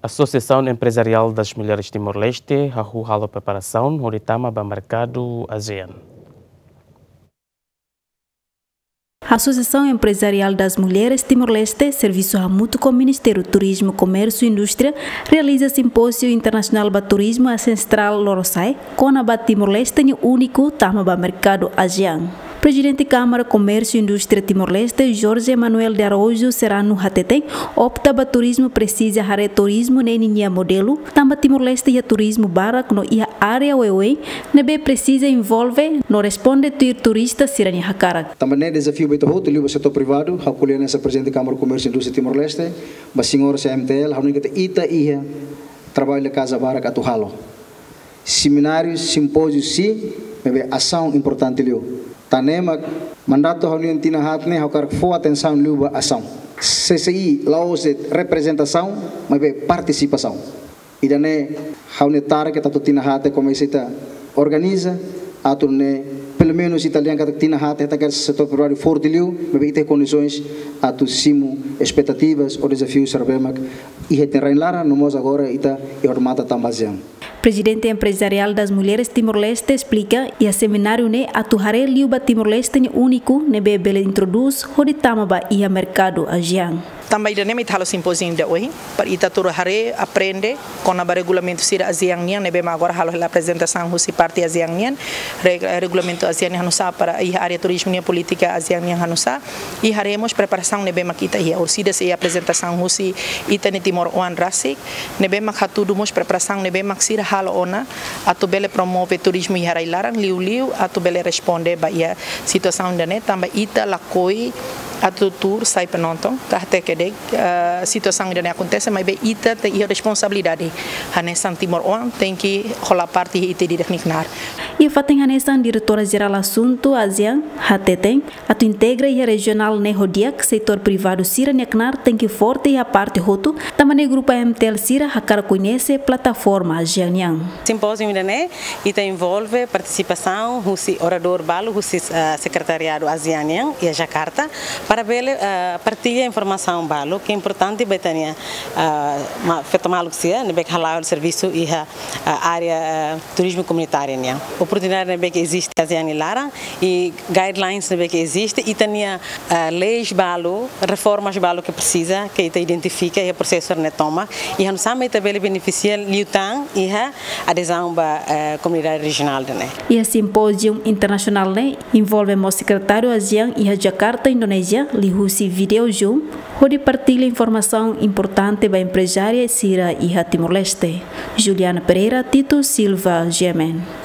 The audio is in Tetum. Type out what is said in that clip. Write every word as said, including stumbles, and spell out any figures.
Associação Empresarial das Mulheres Timor-Leste hahú halo preparasaun hodi tama ba merkadu ASEAN. Asosiasaun Emprezariál das Mulheres Timor-Leste, servisu hamutuk ho Ministériu Turizmu, Komérsiu i Indústria, realiza simpóziu internasionál ba turizmu ASEAN Central Lorosa'e, kona-ba Timor-Leste nia úniku tama ba merkadu ASEAN. Prezidente Kámara Komérsiu i Indústria Timor-Leste, Jorge Manuel de Araújo Serrano hateten, opta ba turizmu presiza haree turizmu ne'e ninia modelu, tanba Timor-Leste iha turizmu barak no iha área oioin ne'ebé presiza envolve no responde tuir turista sira-nia hakarak. Tanba ne'e dezafiu ba ita hotu liu ba setór privadu, ha'u ko'alia hanesan Prezidente Kámara Komérsiu i Indústria Timor-Leste, ba señór C M T L, ha'u hanoin katak ita iha traballu da kaza barak atu halo. Semináriu, simpóziu, sin, maibé asaun importante liu. Tan ne'e mak mandatu ha'u-nian tinan haat ne'e ha'u hakarak fó atensaun liu ba asaun. C C I la'ós de'it reprezentasaun, maibé partisipasaun. Ida-ne'e ha'u-nia tarefa ke atu tinan haat ne'e komesa ita organiza, atu nune'e pelumenus ita dehan katak tinan haat ne'e ita hakarak setór privadu forte liu, maibé ita iha kondisoens atu simu espetativas ou dezafius sira ne'ebé mak iha ita-nia rain laran, no mós agora ita iha odamatan tama ba ASEAN. Prezidente Emprezariál das Mulheres Timor-Leste esplika, iha semináriu ne'e atu haree liu ba Timor-Leste nia úniku ne'ebé bele introdús hodi tama ba iha merkadu ASEAN. Tanba ida-ne'e mak ita halo simpóziu ida ohin, para ita atu haree, aprende kona-ba regulamentu sira ASEAN nian, ne'ebé mak agora halo hela aprezentasaun husi parte ASEAN nian, re-, regulamentu ASEAN nian hanusá para iha área turizmu nian, polítika ASEAN nian hanusá, i haree mós preparasaun ne'ebé mak ita iha. Orsida sei iha aprezentasaun husi ita-nia timoroan rasik, ne'ebé mak hatudu mós preparasaun ne'ebé mak sira halo ona atu bele promove turizmu iha rai laran, liuliu atu bele responde ba iha situasaun ida-ne'e, tanba ita lakohi atu tuur sai penonton, katak kedas, eh, situasaun ida-ne'e akontese, maibé ita tenke iha responsabilidade. Hanesan timoroan tenke hola parte iha ita-nia rai-laran. Iha fatin hanesan, Diretora Jerál Asuntu ASEAN hateten, atu integra iha rejionál ne'e ho di'ak, setór privadu sira-nia knaar tenke forte iha parte hotu, tanba ne'e grupu A M T L sira hakarak koñese plataforma ASEAN nian. Simpóziu ida-ne'e, ita envolve partisipasaun husi oradór balu, husi, ah, Sekretariadu ASEAN nian, iha Jakarta, para bele, ah, partilla informasaun balu ke importante ba ita-nia, ah, ma-, feto maluk sira ne'ebé ke hala'o servisu iha, ah, área, ah, turizmu komunitáriu nian. Oportunidade ne'ebé ke eziste ASEAN nia laran i guidelines ne'ebé ke eziste, ita-nia, ah, leis balu, reformas balu ke presiza, ke ita identifika iha prosesu ne'e tomak, i hanusá mak ita bele benefisia liután iha adezaun ba, eh, komunidade rejionál ida-ne'e. Iha simpóziu internasionál ne'e envolve mós sekretáriu ASEAN iha Jakarta, Indonézia, liuhusi vídeo Zoom, hodi partilla informasaun importante ba emprezária sira iha Timor-Leste. Juliana Pereira, Tito Silva, G M N.